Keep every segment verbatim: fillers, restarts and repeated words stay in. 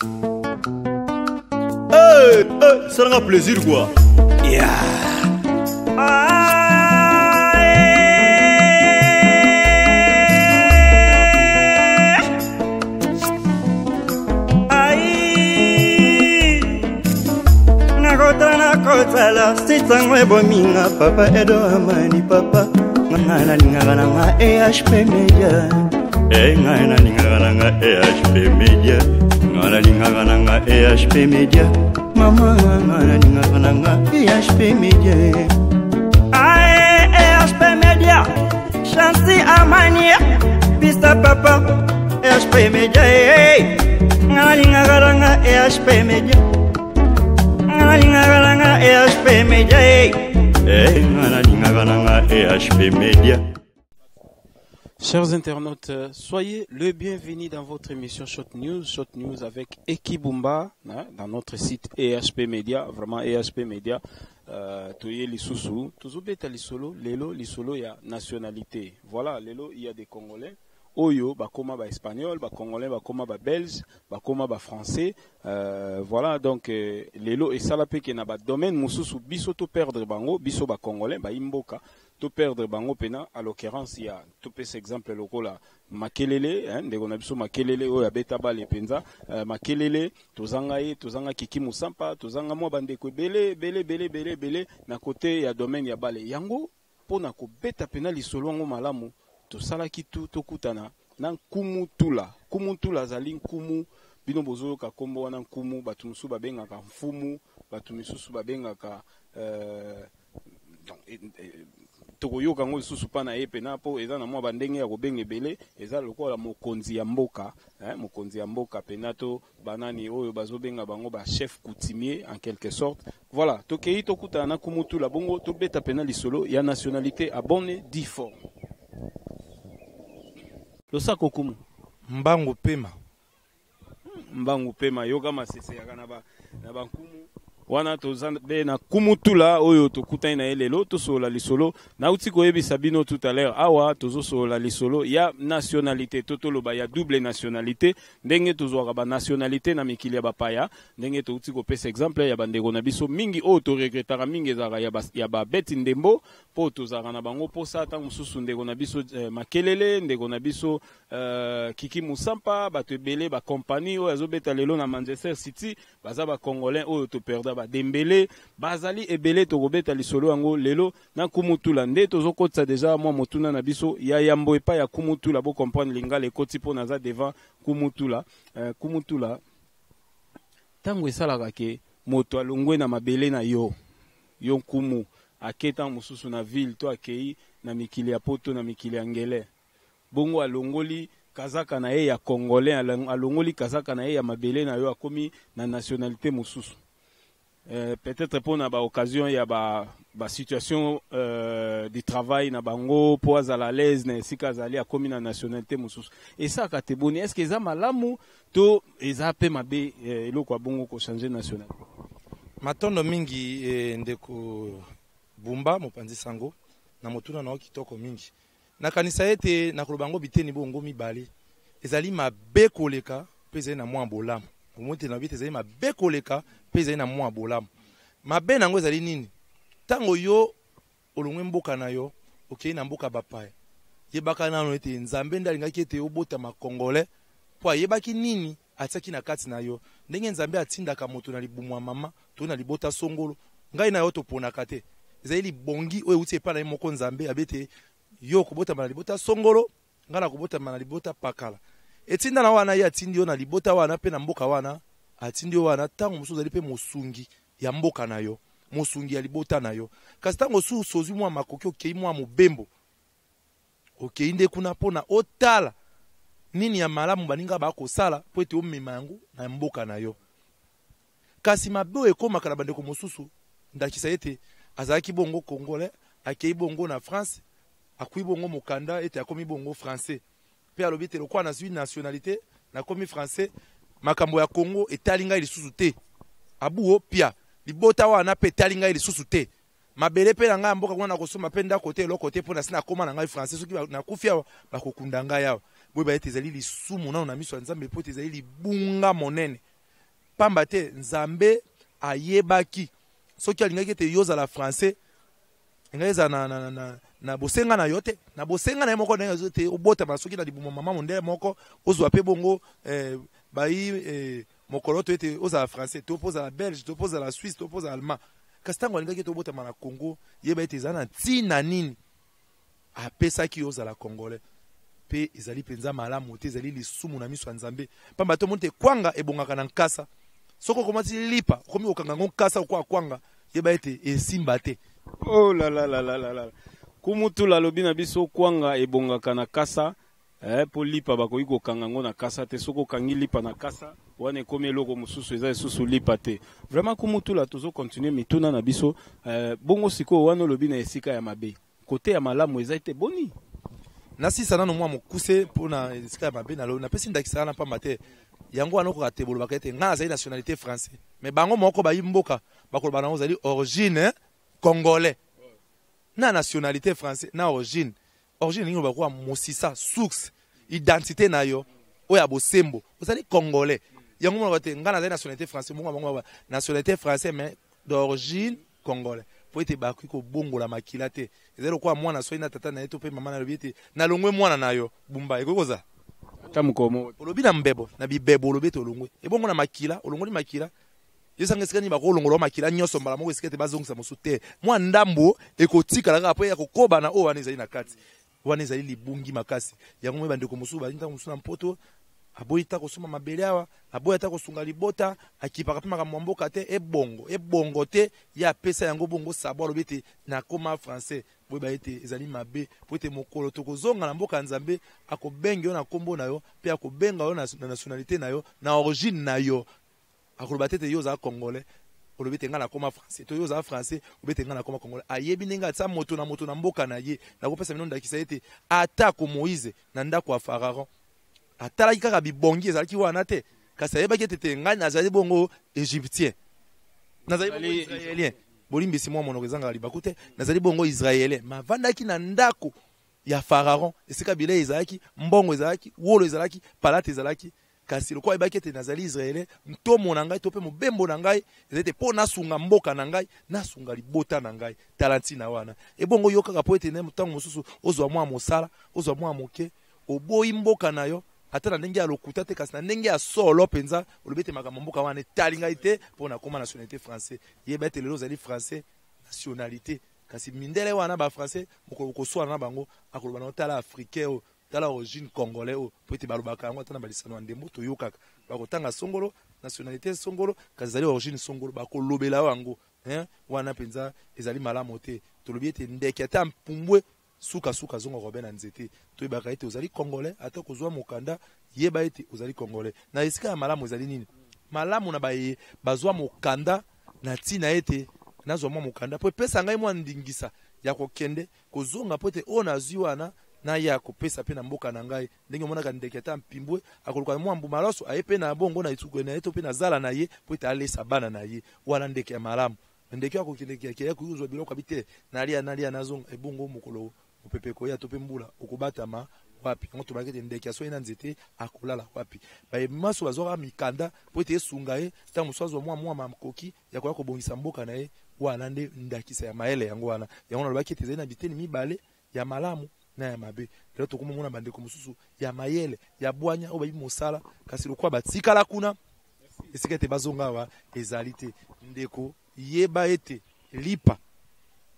Hey, hey, ça rend plaisir quoi. Yeah. Nakotala sitango ebominga papa edo amani papa ngai nalingaka nanga E H P Media e ngai nalingaka nanga E H P Media ngai nalingaka nanga E H P Media mama ngai nalingaka nanga E H P Media ae E H P Media Chansi amani pista papa E H P Media ngai nalingaka nanga E H P Media E H P Media. E H P Media. Chers internautes, soyez le bienvenu dans votre émission Shot News, Shot News avec Eki Bumba, hein, dans notre site E H P Media, vraiment E H P Media, euh, toye lisusu, tozobeta lisolo, lelo lisolo ya nationalité. Voilà, lelo il y a des Congolais. Oyo bakoma ba espagnol, ba congolais, bakoma ba belge, bakoma ba français, euh, voilà donc euh, lelo esala pe ke na ba domaine mususu biso to perdre bango, biso ba congolais ba imboka to perdre bango pena à l'occurrence ya to pesa exemple lokola Makelele, hein, ndeko na biso Makelele oyo abeta bale penza, euh, Makelele tozanga ye, tozanga Kiki Musampa, tozanga mwa bandeko ebele ebele ebele ebele ebele na côté ya domaine ya bale yango pona kobeta pena lisolo yango malamu. Tosalaki tu tokutana na nkumu tula. Nkumu tula azali nkumu, bino bozoyoka kombo wana nkumu, bato mosusu babengaka mfumu, bato misusu babengaka, euh, donc, eh, eh, tokoyoka yango lisusu mpa na ye pena mpo eza na mwa bandenge ya kobenga ebele, eza lokola mokonzi ya mboka, hein, mokonzi ya mboka pena to banani oyo bazobenga bango ba chef coutumier en quelque sorte. Voilà, tokei tokutana na nkumu tula bongo tobeta pena lisolo ya nationalité à bonne dix forme. Losako kumu. Mbangu pema. Mbangu pema yoka masese yaka na ba na ba nkumu. Wana toza be na nkumu tula oyo tokutani na ye lelo tosola lisolo. Nauti koyebisa bino tout à l'heure awa tozosola lisolo ya nationalité to toloba ya double nationalité ndenge tozwaka ba nationalité na mikili ya bapaya ndenge touti kopesa exemple ya bandeko na biso mingi oyo toregretaka mingi ezalaka ya ba, ya babeti ndembo po tozalaka na bango posa ntango mosusu ndeko na biso eh, Makelele ndeko na biso euh, Kiki Musampa bato ebele ba compagnie oyo azobeta lelo na Manchester City baza ba congolais oyo toperda ba Dembele bazali ebele tokobeta lisolo yango lelo na nkumu tula nde tozokotisa deja mwa motuna na biso ya yambo epai ya nkumu tula bo comprendre lingala ekoti mpo naza devant nkumu tula. Euh, nkumu tula ntango esalaka ke moto alongwe na mabele na yo yo nkumu ake ntango mosusu na ville to akei na mikili ya poto na mikili ya ngele bongo alongoli kazaka na ye ya congolais alongoli kazaka na ye ya mabele na yo akomi na nationalité mosusu. Euh, peut-être pour na ba occasion ya ba ba situation euh, de travail na bango po azala à l'aise na esika azali akomi na nationalité mosusu esaka te boni est-ce que eza malamu to eza pe mabe eh, eloko ya bongo ko changer nationalité? Matondo mingi eh, ndeko Bumba mopanzi sango na motuna na kitoko mingi nakanisa ete nakoloba yango biteni bongo mibale ezali mabe koleka mpe ezali na mwa bolamu. Omote na bite ezali mabe koleka mpe ezali na mwa bolamu. Mabe nango ezali nini? Tango yo olongwe mboka na yo okei na mboka bapaya yebaka nano ete Nzambe nde alingaki ete obotama congolais po ayebaki nini atiaki na kati na yo. Ndenge Nzambe atindaka moto na libumu ya mama to na libota songolo ngai na yo toponaka te. Ezali libongi oyo euti epai na ye moko Nzambe abete yo kobotama na libota songolo ngai na kobotama na libota pakala. Etinda na wana ye atindi yo na libota wana pe na mboka wana atindi yo wana tango mosusu ozali pe mosungi ya mboka na yo mosungi ya libota na yo. Kasi tango mosusu ozwi mwa makoki okei mwa mobembo okei nde kuna mpona otala nini ya malamu baninga bakosala po ete omema yango na mboka na yo. Kasi mabe oyo ekomaka na bandeko mosusu ndakisa ete azalaki bongo congolais akei bongo na France akwi bongo mokanda ete akomi bongo français pe alobi te lokwa nazwi nationalité nakomi français makambo ya Congo etali ngai lisusu te abuo pia libota wana pe etali ngai lisusu te mabele pe na ngai ya mboka kuna nakosomba pe ndako te eloko te mpo na si nakóma na ngai français soki nakufi awa bakokunda ngai awa. Boyeba ete ezali lisumu nano na miso ya Nzambe po ete ezali libunga monene. Pamba te Nzambe ayebaki soki alingaki ete yo ozala français, ngai eza na, na, na, na bosenga na yo te, na bosenga na ye moko ndenge te obotama soki na libumu mama mondele moko, ozwa mpe bongo eh, bayi eh, mokolo to ete ozala français to mpo ozala belge to mpo ozala suisse to mpo ozala allemand. Kasi ntango alingaki ete obotama na Congo, yeba ete eza na ntina nini apesaki yo ozala congolais. Mpe ezali mpenza malamu te, ezali lisumu na miso ya Nzambe, pamba te omoni te kwanga ebongaka na nkasa. Soki okomati lipa, okomi kokanga yango nkasa okoya kwanga, yeba ete esimba te. Oh la la la la la la, Kumutula alobi na biso kwanga ebongaka na kasa eh, mpo lipa bakoki kokanga yango na kasa te. Soki okangi lipa na kasa wana, ekomi eloko mosusu, eza lisusu lipa te. Vraiment, Kumutula, tozocontinue mituna na biso eh, bongo sikoyo wana olobi na esika ya mabe, kote ya malamu eza ete boni? Nasisa nano mwa mokuse mpona esika ya mabe. Napesi ndakisa wana pamba te yango wana okoka te bolobaka ete ngai nazali nationalité français, mais bango moko bayi mboka bakoloba nango ozali origine congolais. Na nationalité français na origine, origine elingi loba kwa mosisa, source, identité na yo oyo ya bosembo, ozali congolais. Yango mona te ngai nazali nationalité français, bongo bango nationalité français mais d'origine congolais, po ete bakoki kobongola makila te. Ezali lokola mwana soki na tata na ye to mpe mama na alobi ete nalongwe mwana na yo Bumba, ekoki kozala ata mokolo moko. Olobi na mbebo na bibebo, olobi ete olongwe ebongo na makila, olongoli makila. Yesanga esika nini bakolongola makila nyonso mbala moko, esika ete bazongisa mosusu te, mwa ndambo ekotikala kaka mpo ya kokoba na oyo wana ezali na kati wana, ezali libungi makasi. Yango moi bandeko mosusu bazali ntango mosusu na Mpoto, aboyi ta kosomba mabele awa, aboyi ata kosunga libota, akipaka mpe makambo ya mboka te. Ebongo ebongo te, ye apesa yango bongo sabo, alobi ete nakoma français. Boyeba ete ezali mabe, po ete mokolo tokozonga na mboka ya Nzambe, akobenga yo na nkombo na yo mpe akobenga yo na nationalité na yo, na origine na yo. Akoloba te ete yo ozala congolais, olobi ete ngai nakoma français, to yo ozala français, olobi ete ngai nakoma congolais. Ayebi ndenge atia moto na moto na mboka na ye. Nakopesa bino ndakisa ete atako Moïse na ndako ya Pharaon atalaki kaka bibongi ezalaki wana te, kasi ayebaki ete te ngai nazali bongo égyptien, nazali bongo israélien. Bolimbisi, mwa monoko ezangaka libaku te. Nazali bongo israélien, mavandaki na ndako ya Pharaon, esika bilei ezalaki, mbongo ezalaki, wolo ezalaki, palate ezalaki. Kasi lokola ayebaki ete nazali israélien, ntomo na ngai to mpe mobembo na ngai ezali te mpo nasunga mboka na ngai, nasunga libota na ngai. Tala ntina wana ebongo yo kaka mpo ete ntango mosusu ozwa mwa mosala, ozwa mwa moke, oboyi mboka na yo, ata na ndenge ya lokuta te, kasi na ndenge ya solo mpenza, olobi ete makambo mboka wana etali ngai te mpo nakóma nationalité français. Yeba ete lelo ozali français nationalité, kasi mindele wana bafrançais, mokolo koswana na bango, akoloba na tala africain oyo, tala origine congolais oyo, po ete balobaka yango ata na balisano ya ndembo toyokaka bakotanga songolo, nationalité songolo, kasi ezali origine songolo, bakolobela yo yango wana mpenza ezali malamu te. Tolobi ete ndeke ata mpumbwe, sukasuka azonga kobe na nzete. Toyebaka ete ozali congolais, ata kozwa mokanda, yeba ete ozali congolais. Na esika ya malamu ezali nini? Malamu na baye bazwa mokanda na ntina ete nazwa mwa mokanda mpo epesa ngai mwa ndingisa ya kokende kozonga, mpo ete oyo nazwi wana naya kopesa mpe na mboka na ngai. Ndenge omonaka ndeke ata mpimbwe akoluka mwa mbuma loso, aye mpe na bongo na etuku na ye to mpe na zala na ye mpo ete alesa bana na ye. Wana ndeke ya malamu. Ndeke akokende kekele kozwa biloko abi te, nalia nalia nazonga. Ebongo mokolo mopepe ekoya to mpe mbula, okobatama wapi? Yango tobaki ete ndeke asoki na nzete akolala wapi? Bayemaso bazwaka mikanda mpo ete esunga ye ntango mosusu azwa mwa mwa makoki ya koya kobongisa mboka na ye. Wana nde ndakisa ya mayele. Yango wana yango nalobaki ete ezali na biteni mibale, ya malamu na ya mabe. Lelo tokomomona bandeko mosusu ya mayele, ya bwanya, oyo bayebi mosala, kasi lokola batikala kuna, esika ete bazonga awa ezali te. Ndeko, yeba ete lipa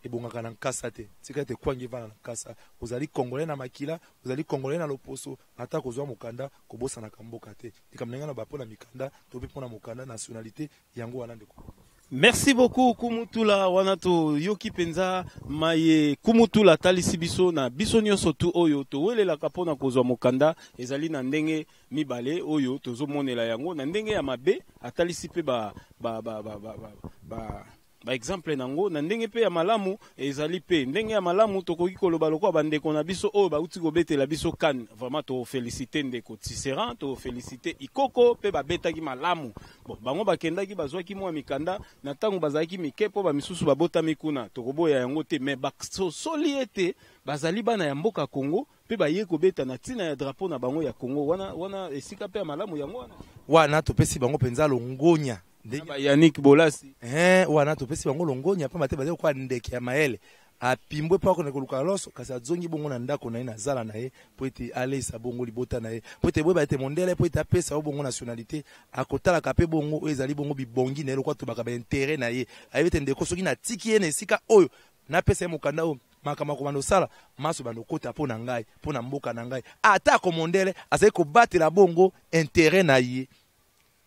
ebongaka na nkasa te, tika ete kwangi evanda na nkasa. Ozali congolais na makila, ozali congolais na loposo, ata kozwa mokanda, kobosanaka mboka te. Likambo ndenge na ba mpona mikanda to mpe mpona mokanda nationalité, yango wana, ndeko. Merci beaucoup, Kumutula. Wana toyoki mpenza maye Kumutula atalisi biso na biso nyonso tu oyo towelelaka mpona kozwa mokanda. Ezali na ndenge mibale oyo tozomonela yango, na ndenge ya mabe atalisi mpe ba, ba, ba, ba, ba, ba, ba Baexemple nango na ndenge mpe ya malamu ezali, mpe ndenge ya malamu tokoki koloba lokola bandeko na biso oyo bauti kobetela biso CAN. Vraiment tofélicité ndeko Tisserand, tofélicité Ikoko mpe babetaki malamu. Bon, bango bakendaki, bazwaki mwa mikanda na ntango bazalaki mike, mpo bamisusu babotami kuna, tokoboya yango te. Mais basosoli ete bazali bana ya mboka Congo mpe baye kobeta na ntina ya drapeau na bango ya Congo. Wana wana esika mpe ya malamu yango wana. Wana topesi bango mpenza longonya. Ndenge Yannick Bolasi. Eh, wana topesi bango longonya, pamba te bazali lokola ndeke ya mayele, apimbwe mpo akende koluka loso, kasi azongi bongo na ndako na ye, na zala na ye, mpo ete alesa bongo libota na ye. Mpo ete boyeba ete mondele, mpo ete apesa yo bongo nationalité, akotalaka mpe bongo oyo ezali bongo bibongi na ye, lokola tobaka baintérêt na ye. Ayebi ete ndeko, soki natiki ye na esika oyo, napesa ye mokanda oyo, makambo akobanda osala maso banda okota mpo na ngai, mpo na mboka na ngai. Atako mondele azali kobatela bongo intérêt na ye,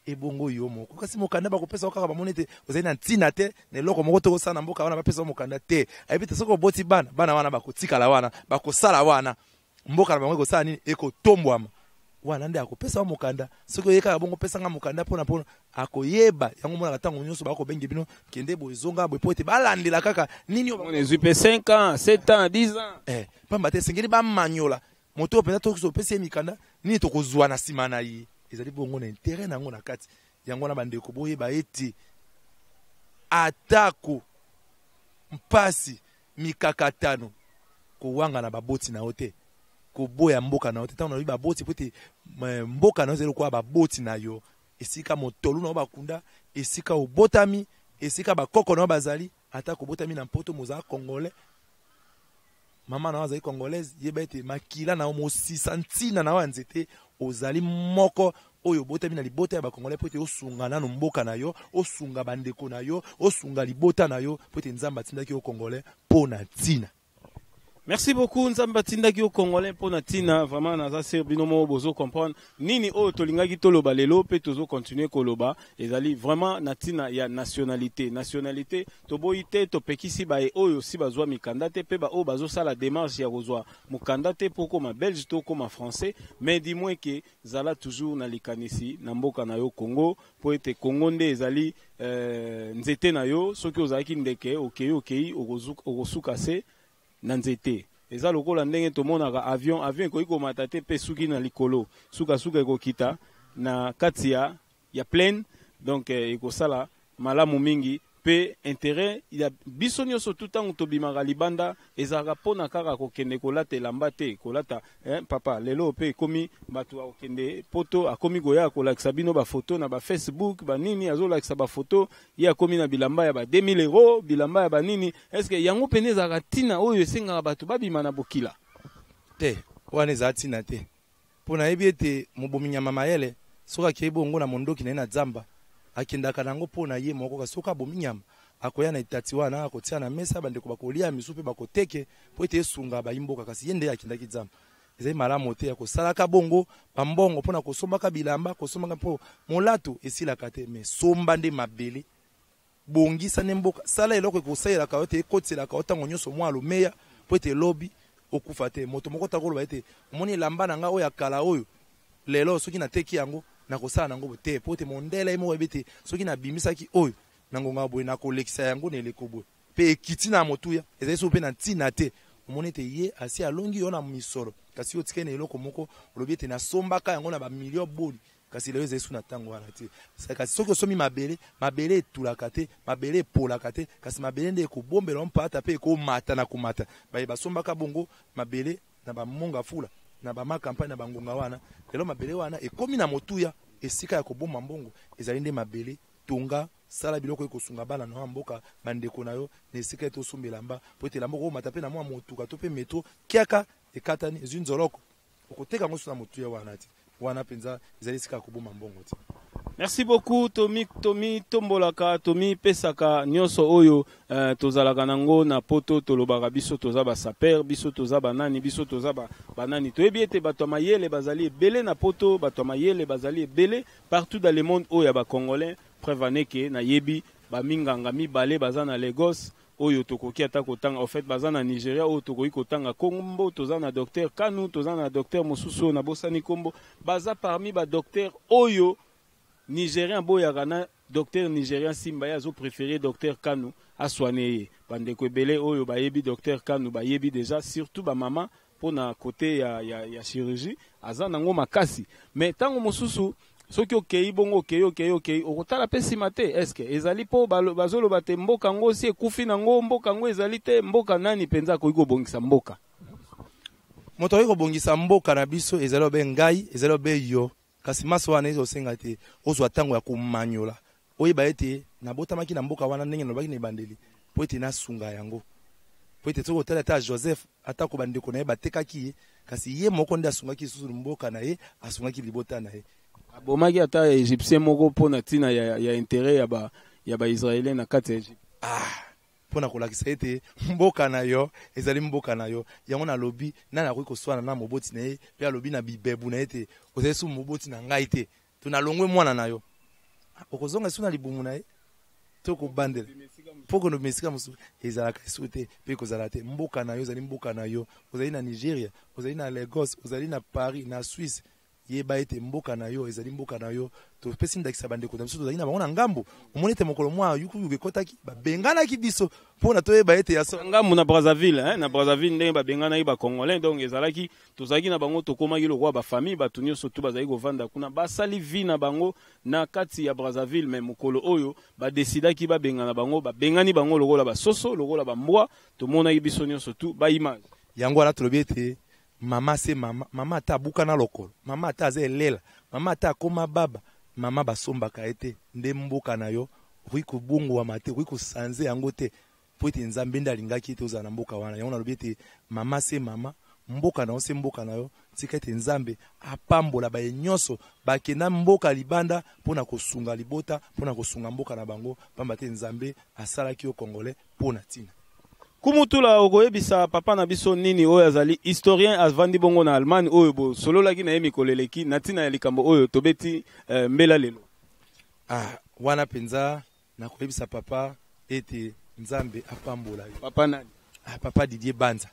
ebongo yo moko. Kasi mokanda bakopesa yo kaka, bamoni ete ozali na ntina te na eloko moko te kosala na mboka wana, bapesa yo mokanda te. Ayebi te soki oboti bana, bana wana bakotikala wana, bakosala wana, mboka na bango ekosala nini? Ekotombwama. Wana nde akopesa yo mokanda. Soki oye kaka bongo, opesanga mokanda mpona mpona akoyeba yango. Monaka ntango nyonso bakobenge bino, kende boye, ezonga boye, po ete balandela kaka nini oyo. Ezwi mpe cinq ans, sept ans, dix ans. Eh, pamba te esengeli bamanyola moto oyo mpenza. Toki opesi ye mikanda, nini tokozwa na nsima na ye? Ezali bongo na intérêt na yango na kati yango wana. Bandeko, boyeba ete atako mpasi, mikakatano, kowanga na baboti na yo te, koboya mboka na yo te. Ntango nalobi baboti, po ete mboka na yo ezali lokola baboti na yo, esika motolu na yo bakunda, esika obotami, esika bakoko na yo bazali. Ata kobotami na Mpoto, mozala Congolais, mama na yo azali Congolaise, yeba ete makila na yo, mosisa ntina na yo ya nzete, ozali moko oyo obotami na libota ya Bacongolais, mpo ete osunga nano mboka na yo, osunga bandeko na yo, osunga libota na yo, mpo ete Nzambe atindaki yo Congolais mpo na ntina. Merci beaucoup. Nzambe atindaki yo Congolais mpo na ntina. Vraiment naza sûr bino moko bozo comprendre nini oyo tolingaki toloba lelo mpe tozocontinue koloba. Ezali vraiment na ntina ya nationalité. Nationalité, toboyi te, topekisi baye oyo si bazwa mikanda te mpe baoyo bazosala démarche ya kozwa mokanda te mpo okóma Belge to okóma Français, mais du moins ke zala toujours na likanisi na mboka na yo Congo, mpo ete Congo nde ezali euh, nzete na yo. Soki ozalaki ndeke, okei okei okosuka se na nzete. Eza lokola ndenge tomonaka avion. Avion ekoki komata te mpe suki na likolo, sukasuka ekokita na kati ya, ya plaine. Donc eh, ekosala malamu mingi mpe intérêt ya biso nyonso tu. Ntango tobimaka libanda, ezalaka mpona kaka kokende kolata elamba te, kolata eh, papa. Lelo mpe ekomi bato akokende Poto, akomi koya kolakisa bino bafoto na baFacebook, banini, azolakisa bafoto, ye akomi na bilamba ya ba deux mille euro, bilamba ya banini. Est-ce yango pene ezalaka ntina oyo esengaka bato babima na bokila? Te, wana ezala ntina te, mpo nayebi ete mobomi nyama mayele, soki akei bongo na mondoki na ye na zamba, akendaka nango mpo na ye moko. Kasi soki abomi nyama, akoya na etati wana, akotia na mesa, bandeko bakolia, misu mpe bakoteke, mpo ete esunga bayimboka. Kasi ye nde akendaki zamba. Ezali malamu te ya kosalaka bongo bambongo mpona kosombaka bilamba, kosombaka, mpo molato esilaka te. Mais somba nde mabele, bongisa nde mboka, sala eloko ekosalelaka yo te, ekotiselaka yo ntango nyonso mwa lomeya, mpo ete elobi okufa te. Moto moko takoloba ete omoni elamba na ngai oyo ya kala oyo, lelo soki nateki yango, nakosala nango te, mpo ete mondele ye moko yebi ete soki nabimisaki oyo na ngonga boye, nakolekisa yango na eleko boye, mpe ekiti na motuya. Ezali so mpe na ntina te. Omoni ete ye asi alongi yo na misolo, kasi yo otikali na eloko moko, olobi ete nasombaka yango na bamilio boni, kasi lelo ezali su na ntango wana te. Kasi soki osomi mabele, mabele etulaka te, mabele epolaka te, kasi mabele nde ekobombela mpata mpe ekomata na komata. Baye basombaka bongo mabele na bamonga fula na bamakampagne na bangonga wana, lelo mabele wana ekomi na motuya. Esika ya kobomba mbongo ezali nde mabele. Tonga, sala biloko ekosunga bana na yo ya mboka, bandeko na yo, na esika ete osomba elamba, po ete elamba okomata mpe na mwa motuka to mpe metro, kiaka ekatani, ezwi nzoloko, okoteka yango so na motuya wana te. Wana mpenza ezali esika ya kobomba mbongo te. Merci beaucoup. Tomi tomi tombolaka, tomi pesaka nyonso oyo uh, tozalaka nango na Poto. Tolobaka biso toza basapeurs, biso toza banani, biso toza ba, banani. Toyebi ete bato ya mayele bazali ebele na Poto, bato ya mayele bazali ebele partout dans le monde oyo ya Bacongolais. Preuve aneke nayebi baminganga mibale baza na Lagos oyo tokoki ata kotanga, en fait baza na Nigeria oyo tokoki kotanga kombo. Toza na docteur Kanu, toza na docteur mosusu oyo nabosani kombo. Baza parmi badocteur oyo Nigérien aboyaka na Docteur nigérien Simba ye azopréféré docteur Kanu asoigne ye. Bandeko ebele oyo bayebi docteur Kanu bayebi déjà, surtout bamama, mpona côté ya, ya, ya chirurgie aza nango makasi. Mais ntango mosusu soki okei bongo, okei, okei, okei, okotala mpe nsima te. Est-ce ezali mpo bazoloba te mboka yango osi ekufi nango, mboka yango ezali te? Mboka nani mpenza akoki kobongisa mboka? Moto akoki kobongisa mboka na biso ezali obe ngai, ezali obe yo. Kasi maso wana ezosenga te ozwa ntango ya komanyola, oyeba ete nabotamaki na mboka wana, ndenge nalobaki na ebandeli, mpo ete nasunga yango. Mpo ete soki otali ata Joseph, atako bandeko na ye batekaki ye, kasi ye moko nde asungaki lisusu mboka na ye, asungaki libota na ye. Abomaki ata Égyptien moko mpo na ntina ya, ya intérêt ya ba ya Baisraélien na kati ya Égypte. Ah, mpo na kolakisa ete mboka na yo ezali mboka na yo. Yango nalobi, nani akoki koswana na moboti na ye mpe alobi na bibebu na ye te: "Ozali su moboti na ngai te, to nalongwe mwana na yo"? Okozonga esu na libumu na ye to kobandela mpo kondoma esika mosusu? Ezalaka esu te mpe kozala te. Mboka na yo ezali mboka na yo. Ozali na Nigeria, ozali na Lagos, ozali na Paris, na Suisse, yeba ete mboka na yo ezali mboka na yo. Topesi ndakisa bandeko na biso tozali na bango na ngambo. Omoni ete mokolo mwa yukuyuku ekɔtaki, babenganaki biso mpona toyeba ete ya so. Ngambo na Brazzaville, hein, na Brazzaville, ndenge babenganaki Bacongolais. Donc ezalaki, tozalaki na bango, tokomaki lokola bafamille. Bato nyonso tu bazalaki kovanda kuna, basali vie na bango na kati ya Brazzaville. Mais mokolo oyo badesidaki babengana bango, babengani bango lokola basoso, lokola bambwa. Tomonaki biso nyonso tu baimage. Yango wana tolobi ete mama se mama. Mama ata abuka na lokolo, mama ata aza elela, mama ata akóma baba, mama basombaka ye te. Nde mboka na yo okoki kobongwama te, okoki kosanze yango te, mpo ete Nzambe nde alingaki ete ozala na mboka wana. Yango nalobi ete mama se mama, mboka na yo se mboka na yo. Tika ete Nzambe apambola baye nyonso bakenda mboka libanda mpo na kosunga libota, mpo na kosunga mboka na bango, pamba te Nzambe asalaki yo Congolais mpo na ntina. Kumutula, okoyebisa papa na biso nini oyo azali historien, avandi bongo na Allemagne, oyo bosololaki na ye mikolo eleki na ntina ya likambo oyo tobeti eh, mbela lelo? Ah, wana mpenza nakoyebisa papa ete Nzambe apambola yo. Papa nani? Ah, papa Didier Banza,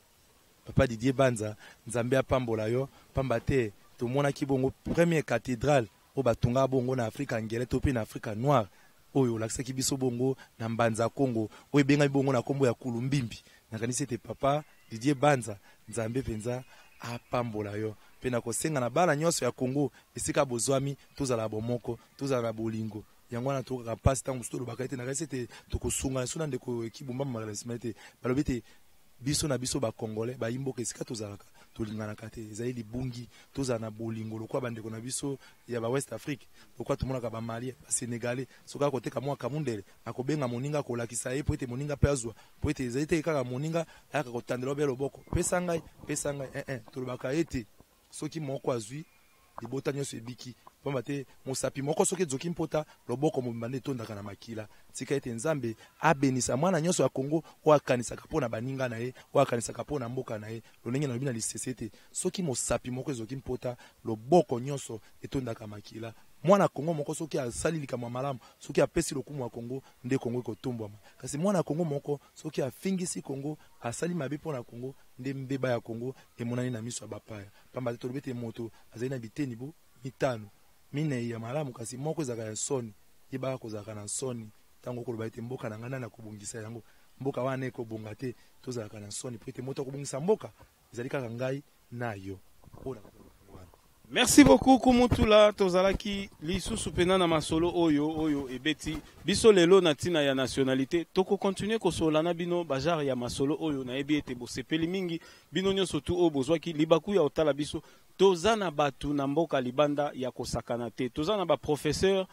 papa Didier Banza, Nzambe apambola yo, pamba te tomonaki bongo première cathédrale oyo batonga bongo na Afrika ngele to mpe na Afrika noire, oyo olakisaki biso bongo na Mbanza Kongo, oyo ebengami bongo na nkombo ya Kulumbimbi. Nakanisi ete papa Didier Banza, Nzambe mpenza apambola yo. Mpe nakosenga na bana nyonso ya Kongo esika bozwami, tozala bomoko, tozala na bolingo. Yango wana tokaka mpasi ntango mosusu tolobaka ete nakanisi ete tokosunga so na ndeko Ekibumba Makala nsima ete balobi ete biso na biso Bacongolais, bayimboka, esika tozalaka tolinganaka te. Ezali libungi. Tozala na bolingo lokola bandeko na biso ya Bawest Afrique, lokola tomonaka Bamalien, Basénégalais. Soki akoteka mwa kamundele, akobenga moninga, akolakisa ye po ete moninga mpe azwa, po ete ezali te kaka moninga ayaka kotandela obe loboko: "Pesa ngai, pesa ngai." eh, eh, tolobaka ete soki moko azwi, libota nyonso ebiki, pamba te mosapi moko soki ezoki mpota, loboko mobimba nde etondaka na makila. Tika ete Nzambe abenisa mwana nyonso ya Kongo oyo akanisaka mpo na baninga na ye, oyo akanisaka mpo na mboka na ye. Lolenge nalobi na lisese ete soki mosapi moko ezoki mpota, loboko nyonso etondaka makila. Mwana Kongo moko soki asali likambo ya malamu, soki apesi lokumu ya Kongo, nde Kongo ekotombwama. Kasi mwana Kongo moko soki afingisi Kongo, asali mabe mpo na Kongo, nde mbeba ya Kongo emonani na miso ya bapaya, pamba te tolobi ete moto azali na biteni bo mitano, minei ya malamu, kasi moko ezalaka ya nsoni. Yebaka kozalaka na nsoni ntango okoloba ete mboka na ngai, nani akobongisa yango? Mboka wana ekobonga te. Tozalaka na nsoni po ete moto akobongisa mboka ezali kaka ngai na yo. Oyo wana. Merci beaucoup, Kumutula. Tozalaki lisusu mpena na masolo oyo oyo ebeti biso lelo na ntina ya nationalité. Tokokontinue kosolola na bino bagenre ya masolo oyo. Nayebi ete bosepeli mingi, bino nyonso tu oyo bozwaki libaku ya kotala biso. Toza na bato na mboka libanda ya kosakana te. Toza na baprofesseur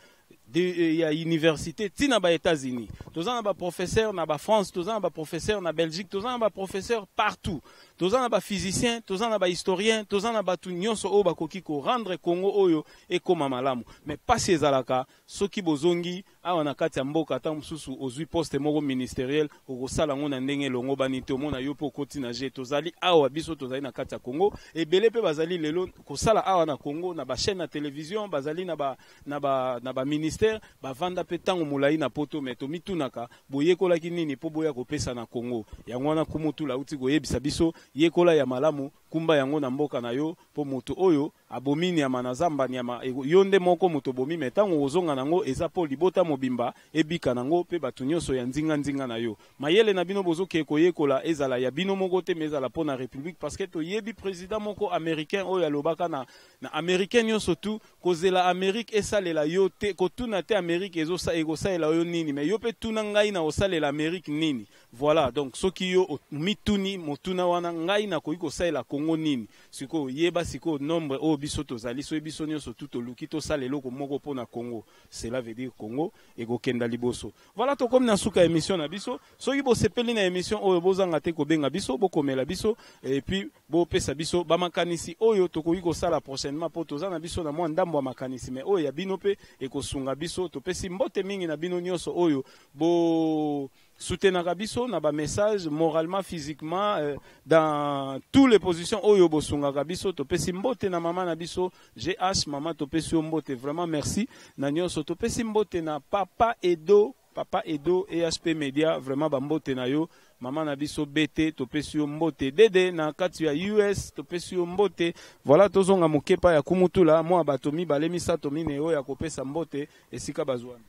de, ya université ntina ba États-Unis, toza na baprofesseur na baFrance, toza na baprofesseur na Belgique, toza na baprofesseur partout, toza na baphysicien, toza na bahistorien, toza na bato nyonso oyo bakoki korendre Congo oyo ekóma malamu. Mais pasi ezalaka soki bozongi awa na kati ya mboka, ata mosusu ozwi poste moko ministériel, okosala yango na ndenge elongo bani te. Omona yo mpe okoti na je. Tozali awa, biso tozali na kati ya Congo, ebele mpe bazali lelo kosala awa na Congo na bachaîne na télévision, bazali na ba, na ba, na baministère, bavanda mpe ntango molai na Poto. Mais tomitunaka, boyekolaki nini mpo boya kopesa na Congo? Yango wana Kumutula auti koyebisa biso: yekola ya malamu, kumba yango na mboka na yo, mpo moto oyo Abomi nyama na zamba, nyama yo nde moko moto bomi, me ntango ozonga nango eza mpo libota mobimba ebika nango mpe bato nyonso ya nzinga-nzinga na yo. Mayele na bino bozokee koyekola ezala ya bino moko te, me ezala mpo na république, parce que toyebi président moko américain oyo alobaka na, na américain nyonso tu kozela Amérique esalela yo te, kotuna te Amérique ekosalela yo nini, me yo mpe tuna ngai na kosalela Amérique nini. Voilà, donc soki yo mituni motuna wana ngai nakoki kosalela Congo nini, sikoyo yeba sikoyo nombre oyo biso tozali, soki biso nyonso tu toluki tosala eloko moko mpona Congo, cela veut dire Congo ekokenda liboso. Voilà, tokomi na suka émission na biso. Soki bosepeli na émission oyo, bozanga te kobenga biso, bokomela biso et puis bopesa biso bamakanisi oyo tokoki kosala prochainement, mpo toza na biso na mwa ndambo ya makanisi, me oyo ya bino mpe ekosunga biso. Topesi mbote mingi na bino nyonso oyo bo soutenaka biso na bamessage, moralement, physiquement, euh, dans toutes les positions oyo bosungaka biso. Topesi mbote na mama na biso G H, mama topesi yo mbote, vraiment merci na nyonso. Topesi mbote na papa Edo, papa Edo E H P Media, vraiment bambote na yo. Mama na biso B T, topesi yo mbote. Dede na kati ya U S, topesi yo mbote. Voilà, tozonga mokepa ya kumutula mwa bato mibale, misato, mine oyo ya kopesa mbote esika bazwani.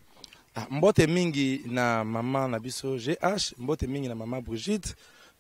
Ah, mbote mingi na mama na biso G H, mbote mingi na mama Brigitte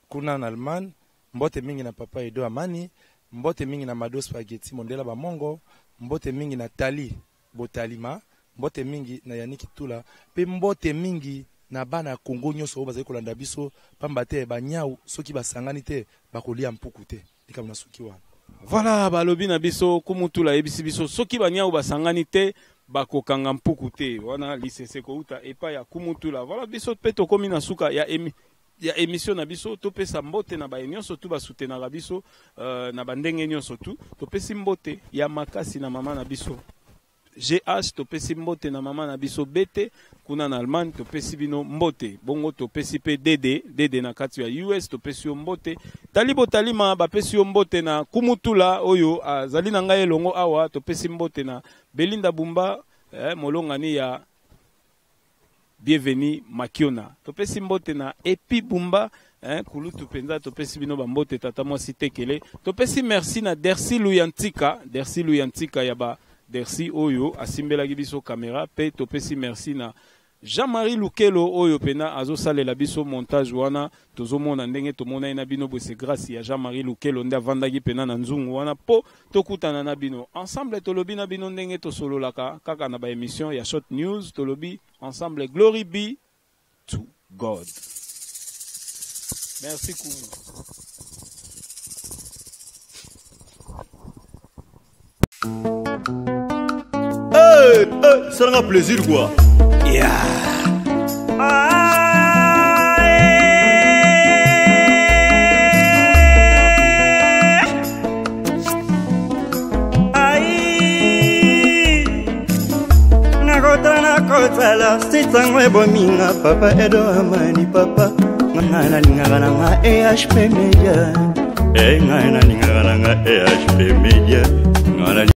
kuna na Allemagne, mbote mingi na papa Edo Amani, mbote mingi na Mado Spaghetti Mondela Bamongo, mbote mingi na Tali Botalima, mbote mingi na Yaniki Tula, mpe mbote mingi na bana ya Kongo nyonso oyo bazali kolanda biso, pamba te banyau soki basangani te bakolia mpuku te. Likambo na suki wana. Voilà, balobi na biso kumutula ayebisi biso soki banyau basangani te bakokanga mpuku te. Wana lisese kouta epai ya kumutula. Voilà, biso mpe tokomi na suka ya emi ya émission na biso. Topesa mbote na baye nyonso tu basoutenaka biso uh, na bandenge nyonso tu. Topesi mbote ya makasi na mama na biso G H, topesi mbote na mama na biso B T kuna na Allemagne, topesi bino mbote. Bongo topesi mpe D D, D D na kati ya U S, topesi yo mbote. Tali Botalima, bapesi yo mbote na kumutula oyo azali na ngai elongo awa. Topesi mbote na Belinda Bumba, eh, molongani ya Bienvenu Makiona. Topesi mbote na Epi Bumba, eh, kulutu mpenza, topesi bino bambote. Tata mwasi Tekele, topesi merci na Dersi Luyantika, Dersi Luyantika ya ba Dersi oyo asimbelaki biso kamera, mpe topesi merci na Jean-Marie Lukelo oyo pena azosalela biso montage wana tozomona ndenge tomona ye na bino boye. Grâce ya Jean-Marie Lukelo nde avandaki pena na nzungu wana mpo tokutana na bino ensemble. Tolobi na bino ndenge tosololaka kaka na baémission ya Short News, tolobi ensemble, glory be to God. Merci Kumu. Hey, hey, salanga plaisir quoi. Yeah. Ai, nakota nakotala sitango ebominga papa Edo Amani, papa ngai nalingaka nanga E H P Media, e ngai nalingaka nanga E H P Media, ngai.